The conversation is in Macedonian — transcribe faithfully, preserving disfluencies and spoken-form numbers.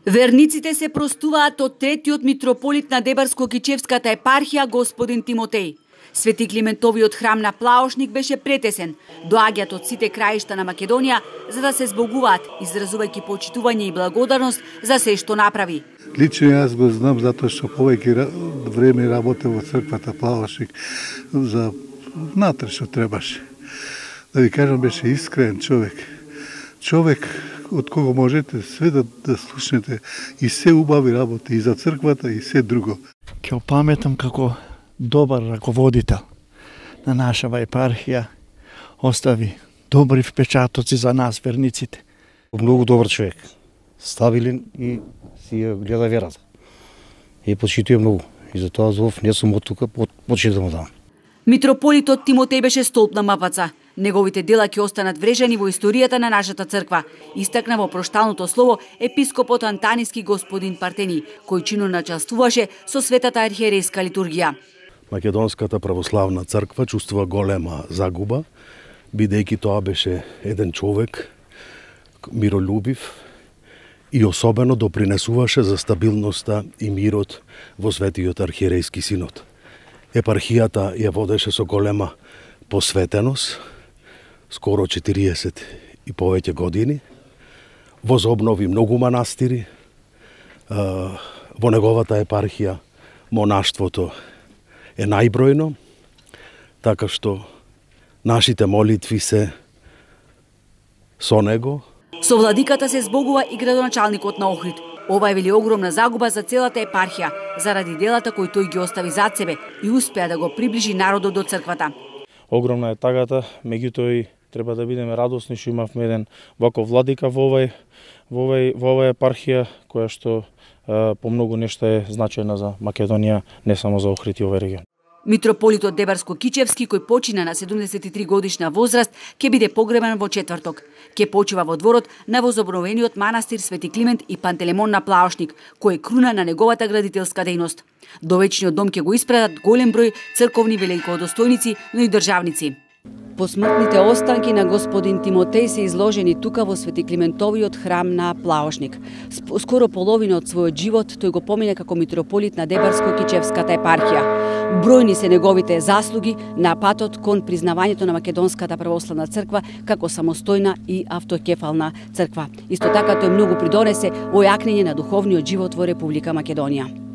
Верниците се простуваат од третиот митрополит на Дебарско-Кичевската епархија господин Тимотеј. Свети Климентовиот храм на Плаошник беше претесен. Доаѓаат од сите краишта на Македонија за да се збогуваат, изразувајќи почитување и благодарност за се што направи. Лично јас го знам затоа што повеќе време работев во црквата Плаошник за внатре што требаше. Да ви кажам, беше искрен човек. Човек од кого можете све да, да слушнете и се убави работи и за црквата и се друго. Ќе опаметам како добар раководител на нашава епархија, остави добри впечатоци за нас, верниците. Многу добар човек, стабилен и си ја гледа верата. И почитува многу. И затоа зов не сум од тука, почитам да му дам. Митрополитот Тимотеј беше столб на мапаца. Неговите дела ќе останат врежани во историјата на нашата црква, истакна во прошталното слово епископот антаниски господин Партени, кој чинно начествуваше со светата архиерейска литургија. Македонската православна црква чувствува голема загуба, бидејќи тоа беше еден човек миролюбив и особено допринесуваше за стабилноста и мирот во Светиот архиерейски синод. Епархијата ја водеше со голема посветеност, скоро четириесет и повеќе години, возобнови многу манастири, во неговата епархија монаштвото е најбројно, така што нашите молитви се со него. Со владиката се збогува и градоначалникот на Охрид. Ова е вели огромна загуба за целата епархија, заради делата кои тој ги остави зад себе и успеа да го приближи народот до црквата. Огромна е тагата, меѓутоа и треба да бидеме радосни што имавме еден ваков владика во овај во овај во оваа епархија, која што е, по многу нешта е значајна за Македонија, не само за Охрид и овај регион. Митрополитот Дебарско-Кичевски, кој почина на седумдесет и три годишна возраст, ќе биде погребан во четврток. Ќе почива во дворот на возобновениот манастир Свети Климент и Пантелемон на Плаошник, кој е круна на неговата градителска дејност. До вечниот дом ќе го испрадат голем број црковни великодостојници, но и државници. Посмртните останки на господин Тимотеј се изложени тука во Свети Климентовиот храм на Плаошник. Скоро половина од својот живот тој го помине како митрополит на Дебарско-Кичевската епархија. Бројни се неговите заслуги на патот кон признавањето на Македонската православна црква како самостојна и автокефална црква. Исто така тој многу придонесе во јакнење на духовниот живот во Република Македонија.